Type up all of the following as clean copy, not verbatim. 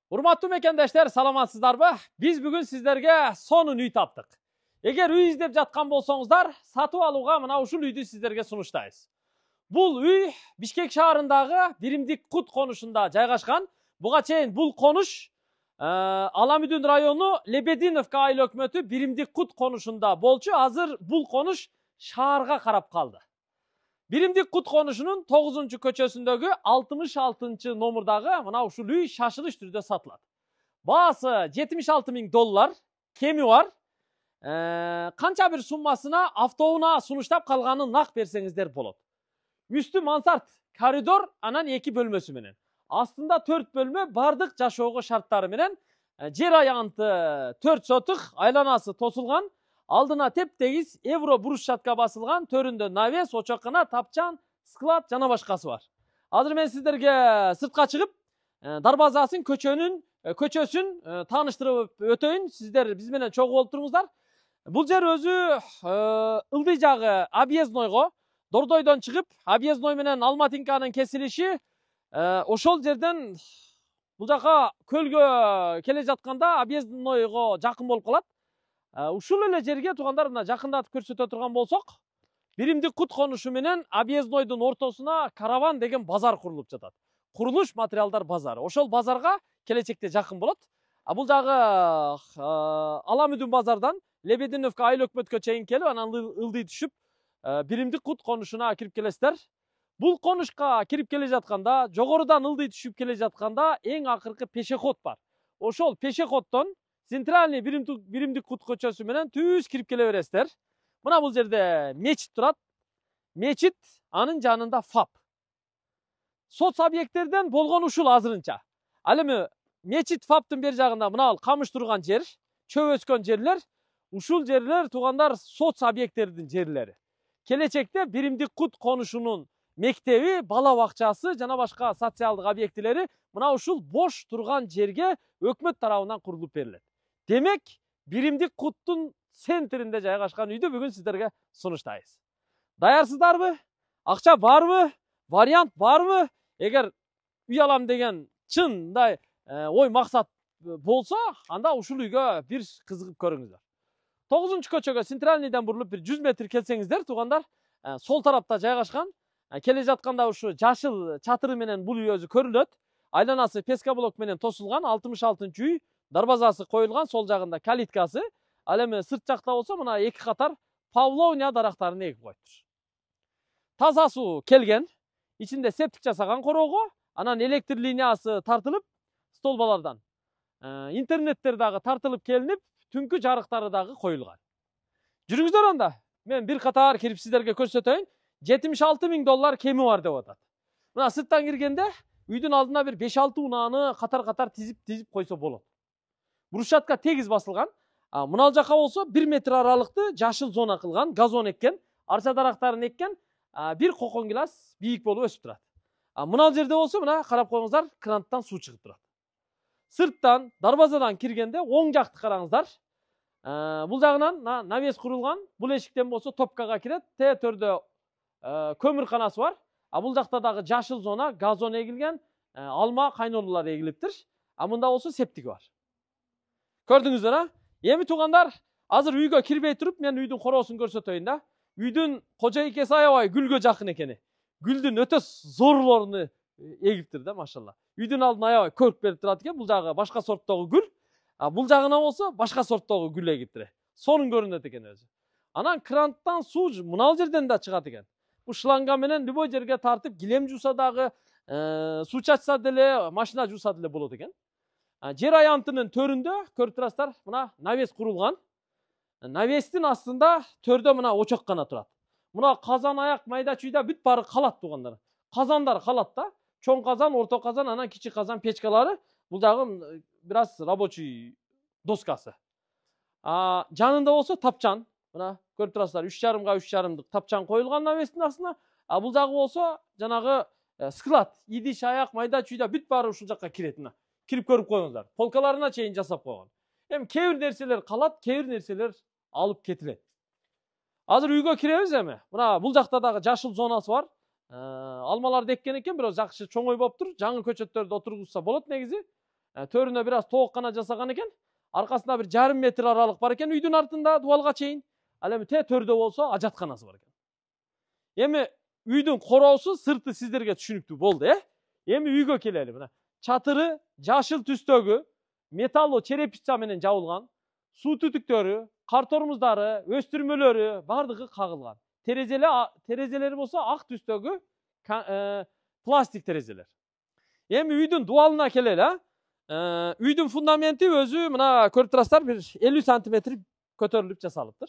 Урматтуу мекендештер, саламатсыздарбы? Биз бүгүн сиздерге сонун үй таптык. Эгер үй издеп жаткан болсоңуздар, сатып алууга мына ушул үйдү сиздерге сунуштайбыз. Бул үй Бишкек шаарындагы Биримдик Кут конушунда жайгашкан. Буга чейин бул конуш Аламүдүн району Лебединовка айыл өкмөтү Биримдик Кут конушунда болчу. Азыр бул конуш шаарга карап калды. Биримдик Кут конушунун 9-көчөсүндөгү 66-номурдагы мына ушул үй шашылыш түрдө сатылат. Баасы $76.000, кеми бар. Канча бир суммасына автоунаа сунуштап калганын нак берсеңиздер болот. Үстү мансард коридор, анан 2 бөлмөсү менен. Астында 4 бөлмө бардык жашоого шарттары менен. Жер аянты 4 сотук, айланасы тосулган. Алдына теп-тегиз евро брусчатка басылган, төрүндө навес, очоккана, тапчан, склад жана башкасы бар. Азыр мен сиздерге сыртка чыгып, дарбазасын, көчөсүн тааныштырып өтөйүн. Сиздер биз менен чогуу болуп туруңуздар. Бул жер өзү ылдый жагы объезднойго, Дордойдон чыгып, объездной менен Алматинканын кесилиши, ошол жерден бул жака көлгө келе жатканда объезднойго жакын болуп калат. Ушул эле жерге туугандар мына жакындатып көрсөтө турган болсок, Биримдик Кут конушу менен объезднойдун ортосуна караван деген базар курулуп жатат. Курулуш материалдар базары. Ошол базарга келечекте жакын болот. Бул жагы Аламүдүн базардан Лебединовка айыл өкмөткө чейин келип, анан ылдый түшүп, Биримдик Кут конушуна кирип келесиздер. Бул конушка кирип келе жатканда, жогорудан ылдый түшүп келе жатканда эң акыркы пешеход бар. Ошол пешеходдон центральный Биримдик Кут көчөсү менен түз кирип келе бересиздер. Мына бул жерде мечит турат. Мечит, анын жанында ФАП. Соц объекттерден болгон ушул азырынча. Ал эми мечит ФАПтын бер жагында мына камыш турган жер, чөп өскөн жерлер, ушул жерлер туугандар соц объекттердин жерлери. Келечекте Биримдик Кут конушунун мектеби, бала бакчасы жана башка социалдык объектилери мына ушул бош турган жерге өкмөт тарабынан курулуп берилет. Демек, Биримдик Куттун центринде жайгашкан үйдү бүгүн сиздерге сунуштайбыз. Даярсыздарбы? Акча барбы? Вариант барбы? Эгер үй алам деген чындай ой максат болсо, анда ушул үйгө бир кызыгып көрүңүздөр. 9-көчөгө центральныйдан бурулуп бир 100 метр келсеңиздер, туугандар, сол тарапта жайгашкан. Келе жатканда ушу жашыл чатыры менен бул үй өзү көрүнөт. Айланасы пескоблок менен тосулган, 66-үй, дарбазасы коюлган, сол жагында калиткасы. Ал эми сырт жакта болсо мына 2 катар павловния дарактарын эгип коюптур. Таза суу келген, ичинде септик жасаган короого, анан электр линиясы тартылып, столбалардан интернеттер дагы тартылып келинип, түнкү жарыктары дагы коюлган. Жүрүңүздөр анда. Мен бир катар кирип сиздерге көрсөтөйүн. $76.000 кеми бар деп атат. Мына сырттан киргенде үйдүн алдына бир 5-6 унааны катар-катар тизип койсо болот. Брусчатка тегиз басылган. Мына жака болсо 1 метр аралыкты жашыл зона кылган, газон эккен, арча дарактарын эккен, бир кокон гилас бийик болуп өсүп турат. Мына жерде болсо мына карап коюңуздар, кранттан суу чыгып турат. Сырттан, дарбазадан киргенде оң жакты караңыздар. Бул жагынан навес курулган, бул эшиктен болсо топкага кирет, төрдө көмүрканасы бар. Бул жакта дагы жашыл зона, газон эгилген, алма, кайнолуулар эгилиптир. Мында болсо септиги бар. Көрдүңүздөр, а? Эми туугандар, азыр үйгө кирбей туруп, мен үйдүн короосун көрсөтөйүн да. Үйдүн кожойкеси аябай гүлгө жакын экен. Гүлдүн өтө зорлорун эгиптир да, машалла. Үйдүн алдына аябай көрк берип турат экен. Бул жагы башка сорттогу гүл. Бул жагына болсо башка сорттогу гүл эгиптир. Сонун көрүнөт экен өзү. Анан кранттан суу мына жерден да чыгат экен. Бу шланга менен любой жерге тартып, килем жууса дагы, суу чачса деле, машина жууса деле болот экен. Жер аянтынын төрүндө көрүп турасыздар, мына навес курулган. Навестин астында төрдө мына очоккана турат. Мына казан аяк, майда чүйда бүт баары калат туугандар. Казандар калат да. Чоң казан, орто казан, анан кичи казан печкалары. Бул дагы бир аз рабочий доскасы. Жанында болсо тапчан. Мына көрүп турасыздар, 3,5 × 3,5 тапчан коюлган навестин астына. Бул жагы болсо жанагы склад, идиш, аяк, майда чүйда бүт баары ушул жакка кирет. Мына кирип көрүп коюңуздар. Полкаларына чейин жасап койгон. Эми кээ бир нерселер калат, кээ бир нерселер алып кетилет. Азыр үйгө киребиз эми. Мына бул жакта дагы жашыл зонасы бар. Алмаларды эккен экен, бирок жакшы чоңой болуптур. Жаңы көчөттөрдү отургузса болот негизи. Төрүнө бир аз тоок гана жасаган экен. Аркасында бир жарым метр аралык бар экен үйдүн артында дубалга чейин. Ал эми төрдө болсо ажатканасы бар экен. Эми үйдүн короосу, сырты сиздерге түшүнүктүү болду, Эми үйгө келели. Мына чатыры жашыл түстөгү металлуу черепица менен жабылган. Суу түтүктөрү, кар тормуздары, өстүрмөлөрү бардыгы кагылган. Терезелери болсо ак түстөгү пластик терезелер. Эми үйдүн дубалына келели, Үйдүн фундаменти өзү мына көрүп турасыздар, бир 50 сантиметр көтөрүлүп жасалыптыр.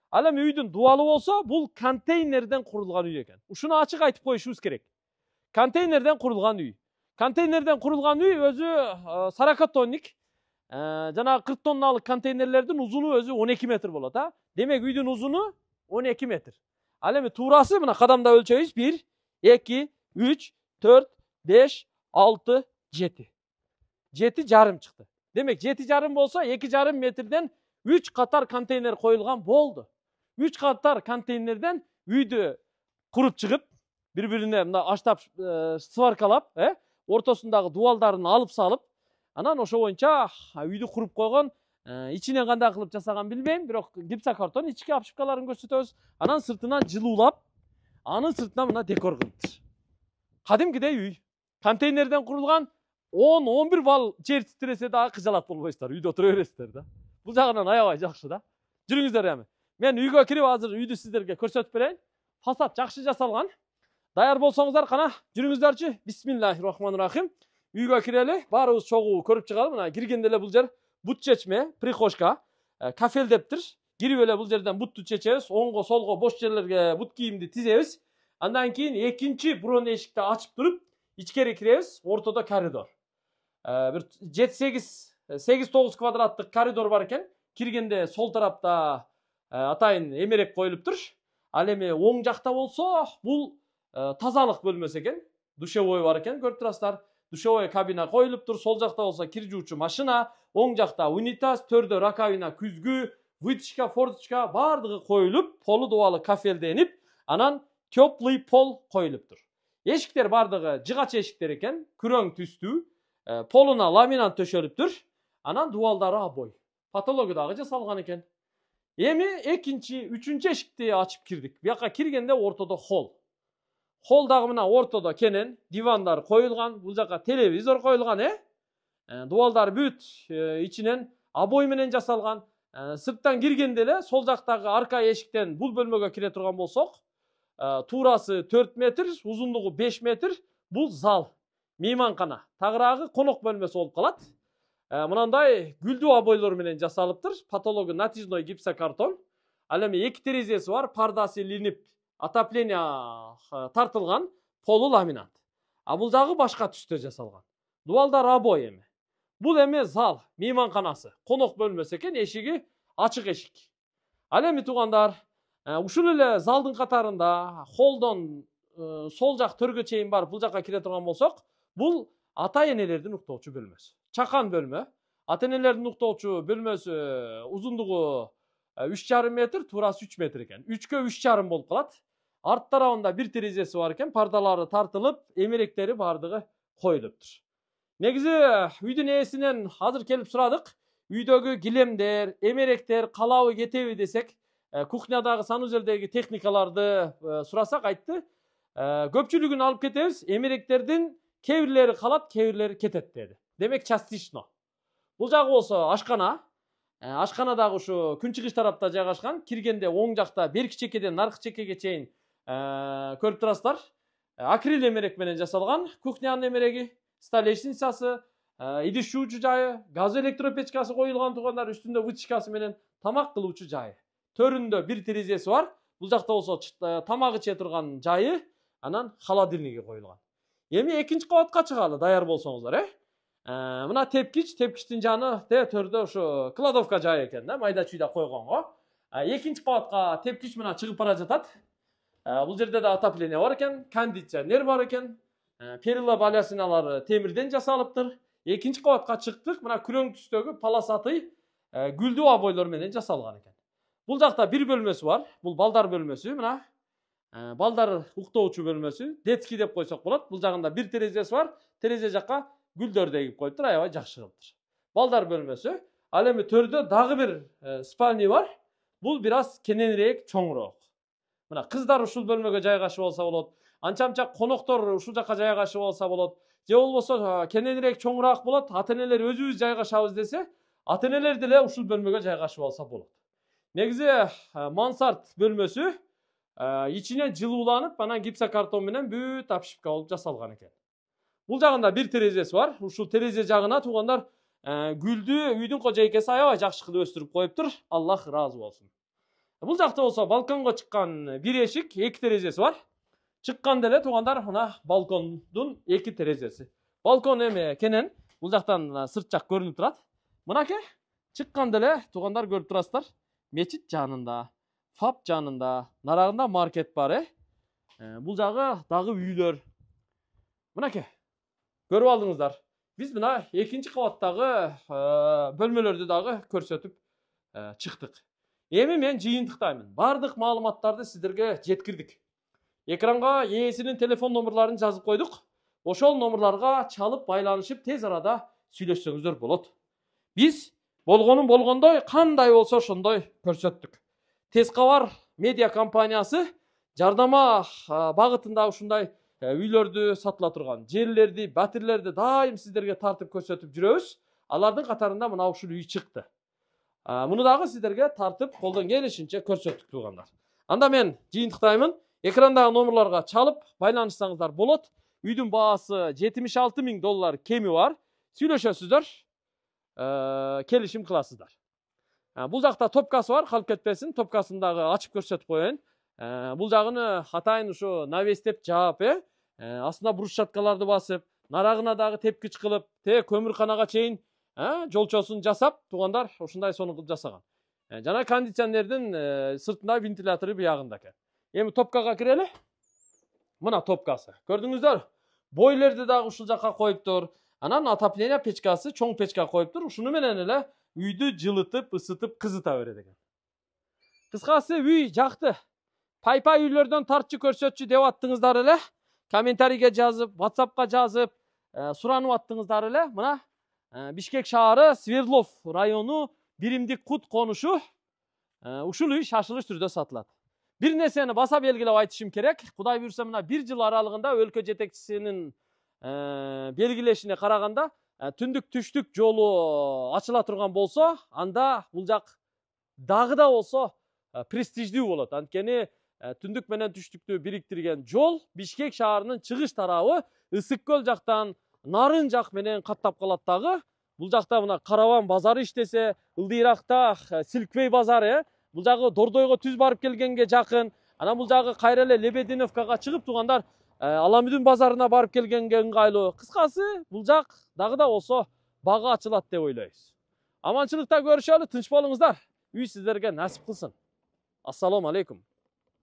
Ал эми үйдүн дубалы болсо, бул контейнерден курулган үй экен. Ушуну ачык айтып коюшубуз керек. Контейнерден курулган үй. Контейнерден курулган үй өзү 40 тонник. Жанагы 40 тонналык контейнерлердин узуну өзү 12 метр болот, Демек үйдүн узуну 12 метр. Ал эми туурасы мына кадамда өлчөйбүз. 1, 2, 3, 4, 5, 6, 7. 7,5 чыкты. Демек 7,5 болсо 2,5 метрден 3 катар контейнер коюлган болду. 3 катар контейнерден үйдү куруп чыгып, бири-бирине мына аштап сваркалап, ортосундагы дубалдарын алып салып, анан ошо боюнча үйдү куруп койгон. Ичинен кандай кылып жасаган билбейм, бирок гипсокартон ички обшивкаларын көрсөтөбүз. Анан сыртынан жылуулап, анын сыртына мына декор кылыптыр. Кадимкидей үй. Контейнерден курулган 10-11 бал жер титиресе дагы кыжалат болбойсуздар, үйдө отура бересиздер да. Бул жагынан аябай жакшы да. Жүрүңүздөр эми. Мен үйгө кирип азыр үйдү сиздерге көрсөтүп берейин. Фасад жакшы жасалган. Даяр болсоңуздар кана жүрүңүздөрчү. Бисмиллахиррахманиррахим. Үйгө кирели, баарыбыз чогуу көрүп чыгалы. Мына киргенде эле бул жер бут чечме, прихожка, кафелдептир. Кирип эле бул жерден бутту чечебиз, оңго, солго бош жерлерге бут кийимди тизебиз. Андан кийин экинчи бурон эшикти ачып туруп, ичкери киребиз. Ортодо коридор. Бир 7-8-9 квадраттык коридор бар экен. Киргенде сол тарапта атайын эмерек коюлуптур. Ал эми оң жакта болсо, бул тазалык бөлмөсү экен. Душевой бар экен, көрүп турасыздар. Душевой кабина коюлуптур. Сол жакта болсо кир жуучу машина, оң жакта унитаз, төрдө раковина, күзгү, вытяжка, форточка бардыгы коюлуп, полу дубалы кафелденип, анан теплый пол коюлуптур. Эшиктер бардыгы жыгач эшиктер экен, күрөң түстүү, полуна ламинат төшөлүптүр. Анан дубалдары обой. Патология дагы жасалган экен. Эми экинчи, үчүнчү эшикти ачып кирдик. Бияка киргенде ортодо холл. Холл дагы мына ортодо кенен, дивандар коюлган, бул жака телевизор коюлган, Дубалдар бүт ичинен обой менен жасалган. Сырттан киргенде эле сол жактагы арка эшиктен бул бөлмөгө кире турган болсок, туурасы 4 метр, узундугу 5 метр, бул зал, мейманкана. Тагыраагы конок бөлмөсү болуп калат. Мынандай гүлдүү обойлор менен жасалыптыр. Патологы натяжной гипсокартон. Ал эми 2 терезеси бар, пардасы илинип, отопление тартылган, полу ламинат. А бул дагы башка түстө жасалган. Дубалдар обой эми. Бул эми зал, мейманканасы, конок бөлмөсү экен, эшиги ачык эшик. Ал эми туугандар, ушул эле залдын катарында холдон сол жак төргө чейин барып бул жакка кире турган болсок, бул ата энелердин уктоочу бөлмөсү. Чакан бөлмө. Ата энелердин уктоочу бөлмөсү узундугу 3,5 метр, туурасы 3 метр экен. 3кө 3,5 болуп калат. Арт тарабында бир терезеси бар экен, пардалары тартылып, эмеректери бардыгы коюлуптур. Негизи үйдүн ээсинен азыр келип сурадык. Үйдөгү килемдер, эмеректер калабы кетеби десек, кухнядагы санузелдеги техникаларды сурасак айтты. Көпчүлүгүн алып кетебиз, эмеректердин кээ бирлери калат, кээ бирлери кетет деди. Демек частично. Бул жагы болсо ашкана. Ашкана дагы ушу күнчыгыш тарапта жайгашкан. Киргенде оң жакта берки чекеден наркы чекеге чейин көрүп турасыздар. Акрил эмерек менен жасалган. Кухнянын эмереги, столешницасы, идиш жуучу жайы, газ электропечкасы коюлган туугандар, үстүндө вытяжкасы менен тамак кылуучу жайы. Төрүндө бир терезеси бар. Бул жакта болсо тамак иче турган жайы, анан холодильниги коюлган. Эми экинчи кабатка чыгалы, даяр болсоңуздар, Мына тепкичтин жаны төрдө ушу кладовка жайы экен да, майда чүйдө койгонго. Экинчи кабатка тепкич мына чыгып бара жатат. Бул жерде да отопление бар экен, кондиционер бар экен. Перила балясиналары темирден жасалыптыр. Экинчи кабатка чыктык, мына күрөң түстөгү полосатый гүлдүү обойлор менен жасалган экен. Бул жакта бир бөлмөсү бар. Бул балдар бөлмөсү, мына. Балдар уктоочу бөлмөсү, детский деп койсок болот. Бул жагында бир терезеси бар. Терезе жакка гүлдөрдү эгип коюптур, аябай жакшы кылыптыр. Балдар бөлмөсү. Ал эми төрдө дагы бир спальня бар. Бул бир аз кененирээк, чоңураак. Мына кыздар ушул бөлмөгө жайгашып алса болот. Анча-мынча коноктор ушул жака жайгашып алса болот. Же болбосо кененирээк, чоңураак болот. Ата-энелер өзүбүз жайгашабыз десе, ата-энелер деле ушул бөлмөгө жайгашып алса болот. Негизи мансард бөлмөсү ичинен жылууланып, анан гипсокартон менен бүт обшивка болуп жасалган экен. Бул жагында бир терезеси бар. Ушул терезе жагына туугандар гүлдү үйдүн кожойкеси аябай жакшы кылып өстүрүп коюптур. Аллах ыраазы болсун. Бул жакта болсо балконго чыккан бир эшик, эки терезеси бар. Чыккан деле туугандар мына балкондун эки терезеси. Балкон эми кенен, бул жактан сырт жак көрүнүп турат. Мынакей чыккан деле туугандар көрүп турасыздар. Мечит жанында, ФАП жанында, нарагында маркет бар, Бул жагы дагы үйлөр. Мынакей. Көрүп алдыңыздар. Биз мына экинчи кабаттагы бөлмөлөрдү дагы көрсөтүп чыктык. Эми мен жыйынтыктаймын. Бардык маалыматтарды сиздерге жеткирдик. Экранга ээсинин телефон номерларын жазып койдук. Ошол номерларга чалып байланышып тез арада сүйлөшсөңүздөр болот. Биз болгонун болгондой, кандай болсо ошондой көрсөттүк. Тез кабар медиа компаниясы жардама багытында ушундай үйлөрдү сатыла турган жерлерди, батирлерди дайым сиздерге тартып көрсөтүп жүрөбүз. Алардын катарында мына ушул үй чыкты. Муну дагы сиздерге тартып колдон келишинче көрсөттүк туугандар. Анда мен жыйынтыктаймын. Экрандагы номерларга чалып байланышсаңыздар болот. Үйдүн баасы $76,000 кеми бар. Сүйлөшөсүздөр, келишим кыласыздар. Бул жакта топкасы бар, калып кетпесин. Топкасын дагы ачып көрсөтүп коеюн. Бул жагыны атайын ушу навестеп жаап, астына брусчаткаларды басып, нарагына дагы тепкич кылып, көмүрканага чейин жолчосун жасап, туугандар ушундай сону кылып жасаган. Жана кондиционердин сыртында вентилятору биягында экен. Эми топкага кирели. Мына топкасы. Көрдүңүздөр? Бойлерди дагы ушул жака коюптур. Анан отопление печкасы, чоң печка коюптур. Ушуну менен эле үйдү жылытып, ысытып, кызыта берет экен. Кыскасы үй жакты. Пай-пай үйлөрдөн тартчы көрсөтчү деп аттыңыздар эле. Комментарийге жазып, WhatsAppка жазып, суранып аттыңыздар эле. Мына Бишкек шаары, Свердлов району, Биримдик Кут конушу. Ушул үй шашылыш түрдө сатылат. Бир нерсени баса белгилеп айтышым керек. Кудай буйрса мына 1 жыл аралыгында өлкө жетекчисинин белгилешине караганда, түндүк түштүк жолу ачыла турган болсо, анда бул жак дагы да болсо престиждүү болот. Анткени түндүк менен түштүктү бириктирген жол Бишкек шаарынын чыгыш тарабы Ысык көл жактан нарын жак менен каттап калат дагы. Бул жакта мына Караван базары иштесе, ылдыйракта Силквей базары, бул жагы Дордойго түз барып келгенге жакын. Анан бул жагы кайра эле Лебединовкага чыгып туугандар Аламүдүн базарына барып келгенге ыңгайлуу. Кыскасы, бул жак дагы да болсо бага ачылат деп ойлойбуз. Аманчылыкта көрүшөлү, тынч болуңуздар. Үй сиздерге насип кылсын. Ассаламу алейкум.